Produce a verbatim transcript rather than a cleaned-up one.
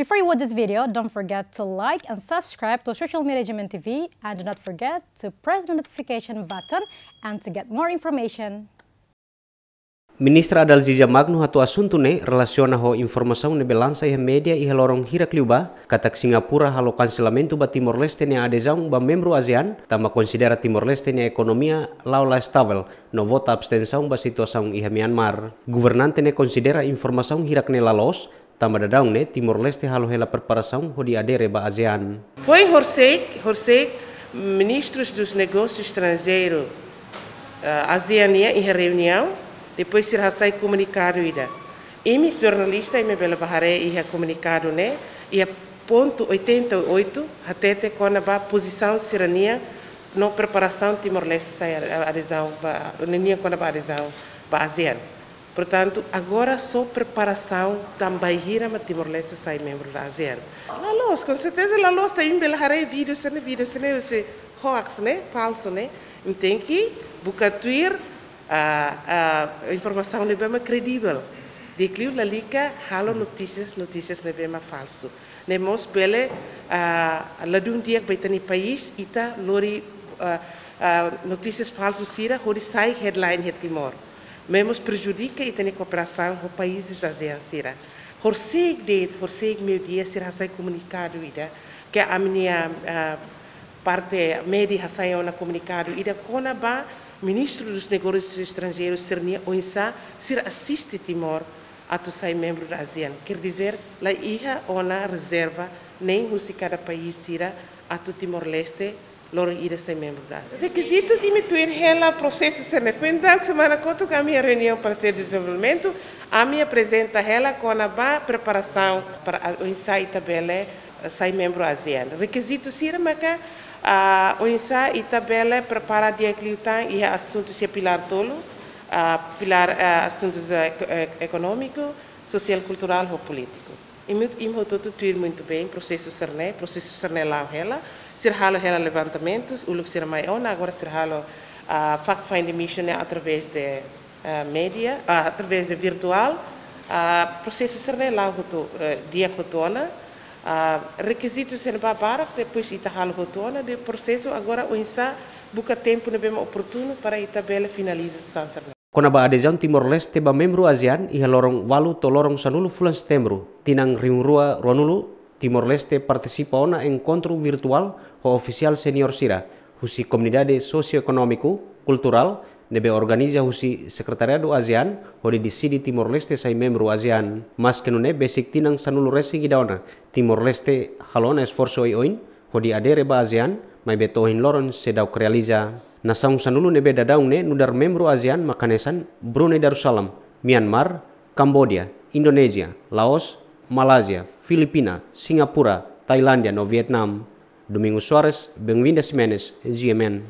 Before you watch this video, don't forget to like and subscribe to Social Media G M N T V, and do not forget to press the notification button and to get more information. Ministra Adalgisa Magno hato'o asuntu ne'e relasiona ho informasaun ne'ebé lansa iha média iha loron hirak liubá, katak Singapura halo kanselamentu ba Timor-Leste nia adezaun ba membru ASEAN, tanba konsidera Timor-Leste nia ekonomia la'o la estavel, no vota abstensaun ba situasaun iha Myanmar. Governante ne'e konsidera informasaun hirak ne'e la loos, tanba daudaun ne'e Timor-Leste halo hela preparasaun hodi adere ba ASEAN. Foin horisehik, horisehik, ministrus dos negósius estranjeirus, eh, ASEAN nian iha reuniaun, depois sira hasai komunikadu ida. Imi jornalista, imi bele bá haree iha komunikadu ne'e, iha pontu oitenta e oito, hatete kona-ba pozisaun sira-nian no preparasaun Timor-Leste sai a-, adezaun ba, nian kona-ba adezaun ba ASEAN. Portantu, agora só preparasaun tanba bainhira mak Timor-Leste sai membru da ASEAN. La loos, com certeza la loos, ita bele haree vídeo sira-ne'e, vídeo sira-ne'e, husi hoax ne'e, falsu ne'e. Ita tenke buka tuir, ah, ah, informasaun ne'ebé mak kredivel. Di'ak liu lalika halo notísias, notísias ne'ebé mak falsu. Ne'e mós bele, ah, ladún di'ak ba ita-nia país, ita lori, ah, ah, notísias falsu sira hodi sai headline iha Timor. Ne'e mós prejudika ita-nia kooperasaun ho países ASEAN sira. Horisehik de'it, horisehik meiudia sira hasai komunikadu ida, ke ami-nia, ah, parte média hasai ona komunikadu ida kona-ba ministru dos negósius estranjeirus sira-nia oinsá sira asiste Timor atu sai membru da ASEAN. Quer dizer, la iha ona rezerva nein husi kada país sira atu Timor-Leste loron ida sai membru da ASEAN. Rekizitus imi tuir hela prosesu sira-ne'e. Foin daudaun semana kotuk ami iha reuniaun Parsellu Dezenvolvimentu, ami aprezenta hela kona-ba preparasaun para a-, oinsá ita bele, eh, sai membru ASEAN. Rekizitu sira maka, ah, oinsá ita bele prepara di'ak liután iha asuntu sira pilár tolu, ah, pilár, ah, asuntus, eh, eko-, eh, ekonómiku, sosiál, kulturál ho polítiku. Imi, imi hotu-hotu tuir muito bem prosesu sira-ne'e, prosesu sira-ne'e la'o hela, sira halo hela levantamentus, uluk sira mai ona, agora sira halo, ah, fact-finding mission ne'e através de, ah, média, ah, através de virtuál, ah, prosesu sira-ne'e la'o hotu, eh, di'ak hotu ona, ah, rekizitu sira-ne'e barak, depois ita halo hotu ona, de prosesu agora oinsá buka tempu ne'ebé mak oportunu para ita bele finaliza sasán sira-ne'e. Kona-ba adezaun Timor-Leste ba membru ASEAN iha loron ualu to'o loron sanulu fulan Setembru, tinan rihun rua ruanulu, Timor-Leste partisipa ona enkontru virtuál ho ofisiál seniór sira, husi komunidade sosioekonómiku, kulturál, ne'ebé organiza husi Sekretariadu ASEAN, hodi deside Timor-Leste sai membru ASEAN. Maske nune'e besik tinan sanulu resin ida ona, Timor-Leste halo ona esforsu oioin, hodi adere ba ASEAN, maibé to'o ohin loron seidauk realiza. Nasaun sanulu ne'ebé daudaun ne'e nu'udar membru ASEAN mak hanesan Brunei Darussalam, Myanmar, Kamboja, Indonézia, Laos, Malázia, Filipina, Singapura, Tailándia no Vietnam. Domingos Soares, Benvinda Ximenes, G M N.